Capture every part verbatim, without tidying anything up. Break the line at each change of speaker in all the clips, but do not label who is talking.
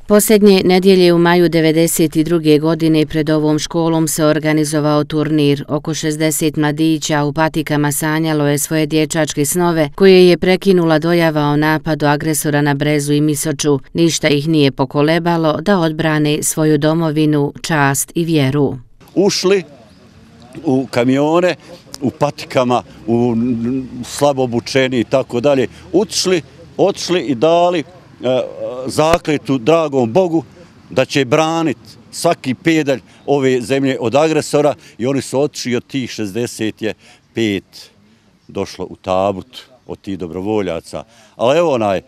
Posljednje nedjelje u maju devedeset druge godine pred ovom školom se organizovao turnir. Oko šezdeset mladića u patikama sanjalo je svoje dječačke snove koje je prekinula dojava o napadu agresora na Brezu i Misoču. Ništa ih nije pokolebalo da odbrane svoju domovinu, čast i vjeru.
Ušli u kamione, u patikama, u slabo obučeni i tako dalje, otišli, otišli i dali zakletu dragom Bogu da će braniti svaki pedalj ove zemlje od agresora i oni su otišli od tih šezdeset pet došlo u tabut od tih dobrovoljaca. Ali evo onaj,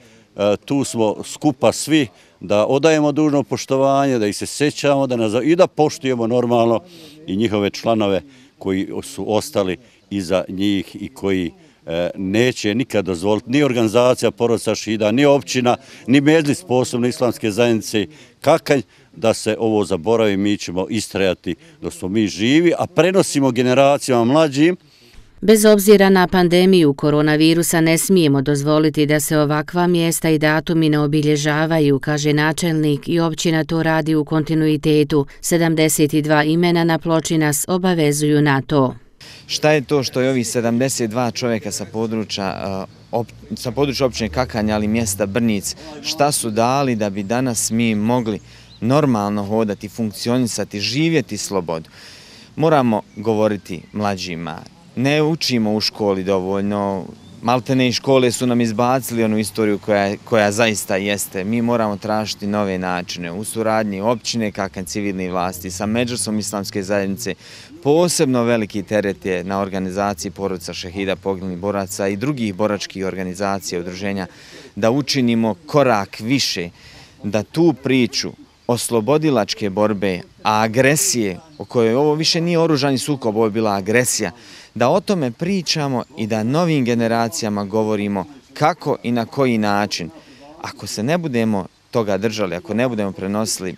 tu smo skupa svi da odajemo dužno poštovanje, da ih se sećamo da nas, i da poštujemo normalno i njihove članove koji su ostali iza njih i koji neće nikad dozvoliti ni organizacija porodica šehida, ni općina, ni medlis posebno islamske zajednice Kakanj da se ovo zaboravi. Mi ćemo istrajati dok smo mi živi, a prenosimo generacijama mlađim.
Bez obzira na pandemiju koronavirusa ne smijemo dozvoliti da se ovakva mjesta i datumi ne obilježavaju, kaže načelnik, i općina to radi u kontinuitetu. sedamdeset dva imena na ploči nas obavezuju na to.
Šta je to što je ovih sedamdeset dva čovjeka sa područja, sa područja općine Kakanj, ali mjesta Brnjic, šta su dali da bi danas mi mogli normalno hodati, funkcionisati, živjeti slobodu? Moramo govoriti mlađima. Ne učimo u školi dovoljno, maltene i škole su nam izbacili onu istoriju koja, koja zaista jeste. Mi moramo tražiti nove načine u suradnji općine Kakanj, civilne vlasti sa Medžlisom islamske zajednice. Posebno veliki teret je na organizaciji porodica šehida, poginulih boraca i drugih boračkih organizacija, udruženja, da učinimo korak više, da tu priču oslobodilačke borbe, a agresije, o kojoj ovo više nije oružani sukob, ovo je bila agresija, da o tome pričamo i da novim generacijama govorimo kako i na koji način. Ako se ne budemo toga držali, ako ne budemo prenosili,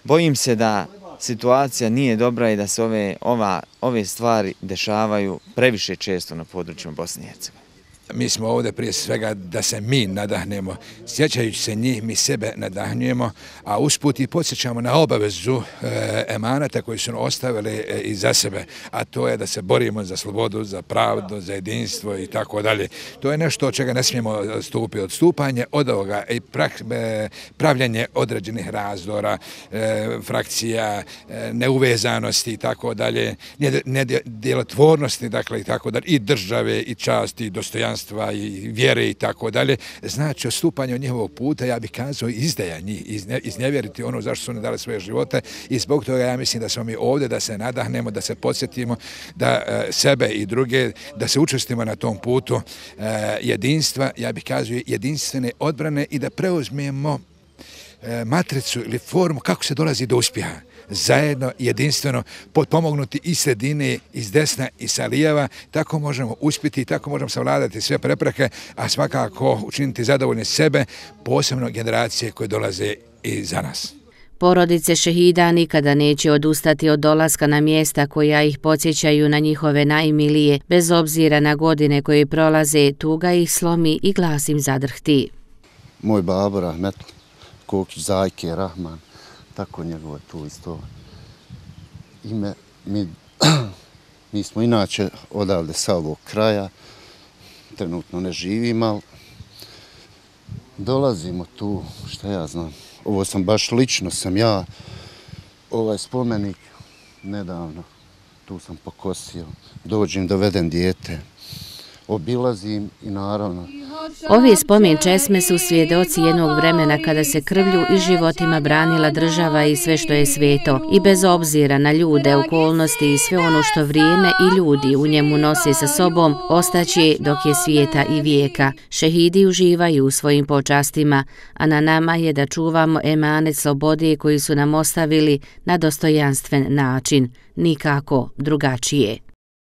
bojim se da situacija nije dobra i da se ove, ova, ove stvari dešavaju previše često na područjima Bosne i Hercegovine.
Mi smo ovdje prije svega da se mi nadahnemo, sjećajući se njih, mi sebe nadahnjujemo, a usput i podsjećamo na obavezu e, emanata koji su ostavili e, iza sebe, a to je da se borimo za slobodu, za pravdu, za jedinstvo i tako dalje. To je nešto od čega ne smijemo stupiti, odstupanje od ovoga i pra, e, pravljanje određenih razdora, e, frakcija, e, neuvezanosti i tako dalje, nedjelotvornosti, dakle i tako dalje, i države, i časti, i dostojanstva, i vjere i tako dalje, znači odstupanje od njihovog puta, ja bih kazao izdaja njih, iznevjeriti ono zašto su oni dali svoje živote i zbog toga ja mislim da smo mi ovdje da se nadahnemo, da se podsjetimo, da sebe i druge, da se učestimo na tom putu jedinstva, ja bih kazao jedinstvene odbrane i da preuzmemo matricu ili formu kako se dolazi do uspjeha. Zajedno, jedinstveno, potpomognuti i sredine, iz desna i sa lijeva, tako možemo uspjeti i tako možemo savladati sve prepreke, a svakako učiniti zadovoljne sebe, posebno generacije koje dolaze iza nas.
Porodice šehida nikada neće odustati od dolaska na mjesta koja ih podsjećaju na njihove najmilije, bez obzira na godine koje prolaze, tuga ih slomi i glas im zadrhti.
Moj babo rahmetli Kokić Zajke Rahman, tako njegovo tu isto ime. Mi, mi smo inače odavde sa ovog kraja, trenutno ne živimo, ali dolazimo tu, šta ja znam, ovo sam baš lično sam ja, ovaj spomenik nedavno, tu sam pokosio, dođem, dovedem dijete, obilazim i naravno.
Ovi spomen česme su svjedoci jednog vremena kada se krvlju i životima branila država i sve što je sveto. I bez obzira na ljude, okolnosti i sve ono što vrijeme i ljudi u njemu nose sa sobom, ostaće dok je svijeta i vijeka. Šehidi uživaju u svojim počastima, a na nama je da čuvamo emanet slobode koji su nam ostavili na dostojanstven način, nikako drugačije.